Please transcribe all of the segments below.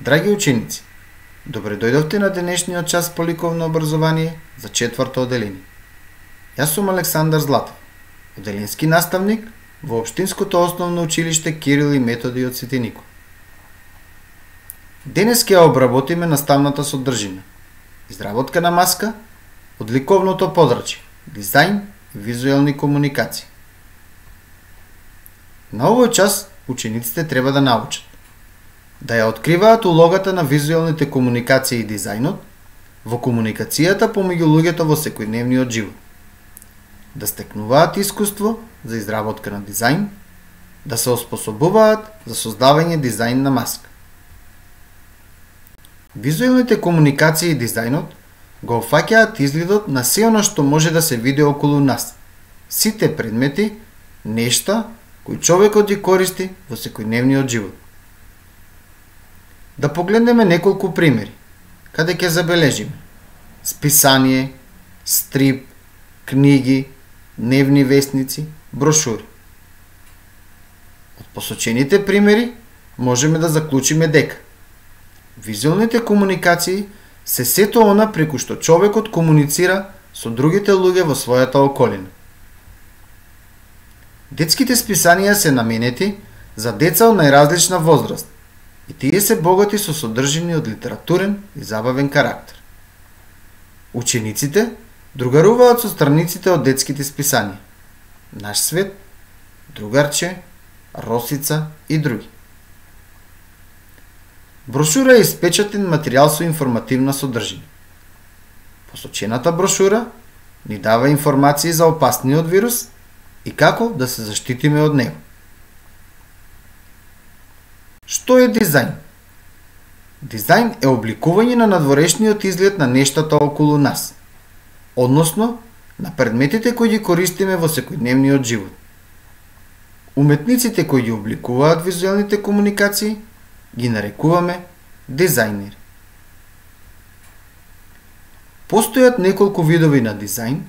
Драги ученици, добре дојдовте на денешниот час по ликовно образование за 4-то одделение. Јас сум Александар Златов, одделенски наставник во Општинското основно училиште Кирил и Методи од Свети Никој. Денес ќе обработиме наставната содржина, изработка на маска од ликовното подрачје, дизајн и визуелни комуникации. На овој час учениците треба да научат да ја откриваат улогата на визуелните комуникации и дизајнот во комуникацијата помеѓу луѓето во секојдневниот живот, да стекнуваат искуство за изработка на дизајн, да се оспособуваат за создавање дизајн на маска. Визуелните комуникации и дизајнот го опфаќаат изгледот на се она што може да се види околу нас, сите предмети, нешта кои човекот ги користи во секојдневниот живот. Да погледнеме неколку примери, каде ќе забележиме списание, стрип, книги, дневни весници, брошури. Од посочените примери можеме да заклучиме дека визуелните комуникации се сето она преку што човекот комуницира со другите луѓе во својата околина. Детските списанија се наменети за деца од најразлична возраст и тие се богати со содржини од литературен и забавен карактер. Учениците другаруваат со страниците од детските списанија Наш свет, Другарче, Росица и други. Брошура е испечатен материјал со информативна содржина. Посочената брошура ни дава информации за опасниот вирус и како да се заштитиме од него. Што е дизајн? Дизајн е обликување на надворешниот изглед на нештата околу нас, односно на предметите кои ги користиме во секојдневниот живот. Уметниците кои ги обликуваат визуелните комуникации ги нарекуваме дизајнери. Постојат неколку видови на дизајн,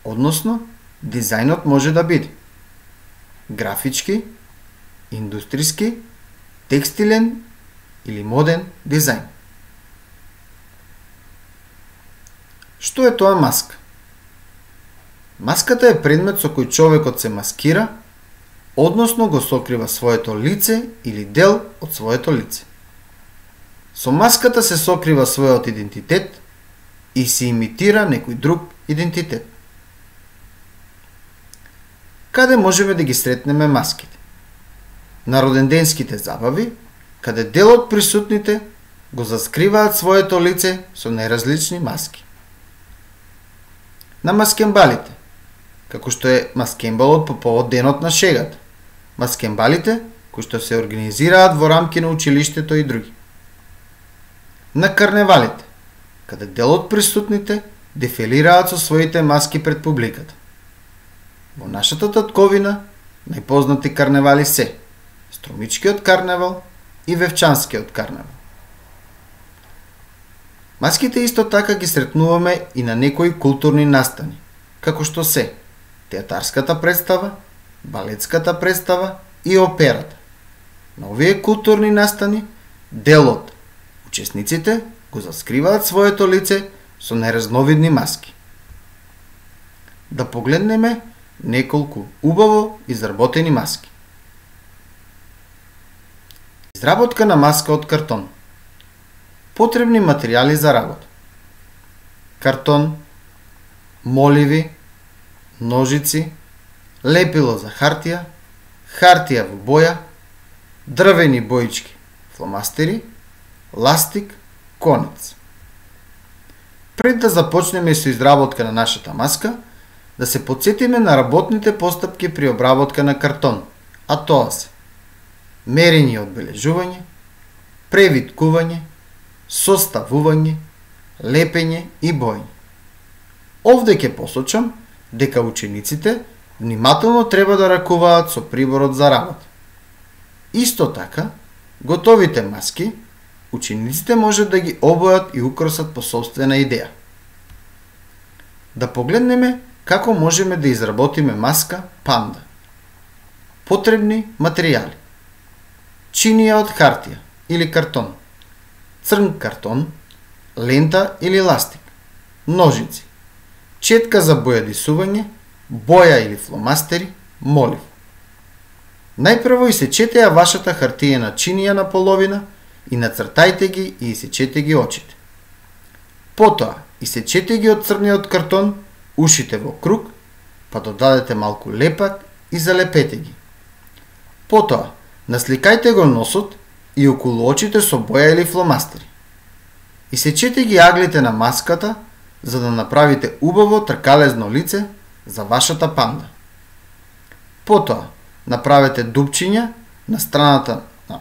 односно дизајнот може да биде графички, индустријски, текстилен или моден дизајн. Што е тоа маска? Маската е предмет со кој човекот се маскира, односно го сокрива своето лице или дел од своето лице. Со маската се сокрива својот идентитет и се имитира некој друг идентитет. Каде можеме да ги сретнеме маските? На роденденските забави, каде дел од присутните го заскриваат своето лице со најразлични маски. На маскембалите, како што е маскембалот по повод денот на шегата, маскембалите кои што се организираат во рамки на училиштето и други. На карневалите, каде дел од присутните дефилираат со своите маски пред публиката. Во нашата татковина најпознати карневали се Струмичкиот карневал и Вевчанскиот карневал. Маските исто така ги сретнуваме и на некои културни настани, како што се театарската представа, балетската представа и операта. На овие културни настани делот учесниците го заскриваат своето лице со најразновидни маски. Да погледнеме неколку убаво изработени маски. Изработка на маска од картон. Потребни материјали за работа: картон, моливи, ножици, лепило за хартија, хартија во боја, дрвени боички, фломастери, ластик, конец. Пред да започнеме со изработка на нашата маска, да се потсетиме на работните постапки при обработка на картон, а тоа се мерење и одбележување, превиткување, составување, лепење и боење. Овде ќе посочам дека учениците внимателно треба да ракуваат со приборот за работа. Исто така, готовите маски учениците можат да ги обојат и украсат по сопствена идеја. Да погледнеме како можеме да изработиме маска панда. Потребни материјали: чинија од хартија или картон, црн картон, лента или ластик, ножици, четка за бојадисување, боја или фломастери, молив. Најпрво исечете ја вашата хартиена чинија на половина и нацртајте ги и исечете ги очите. Потоа, исечете ги од црниот картон ушите во круг, па додадете малку лепак и залепете ги. Потоа, насликајте го носот и околу очите со боја или фломастери. Исечете ги аглите на маската за да направите убаво тркалезно лице за вашата панда. Потоа, направете дупчиња на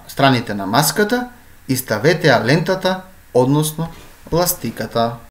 страните на маската и ставете ја лентата, односно ластиката.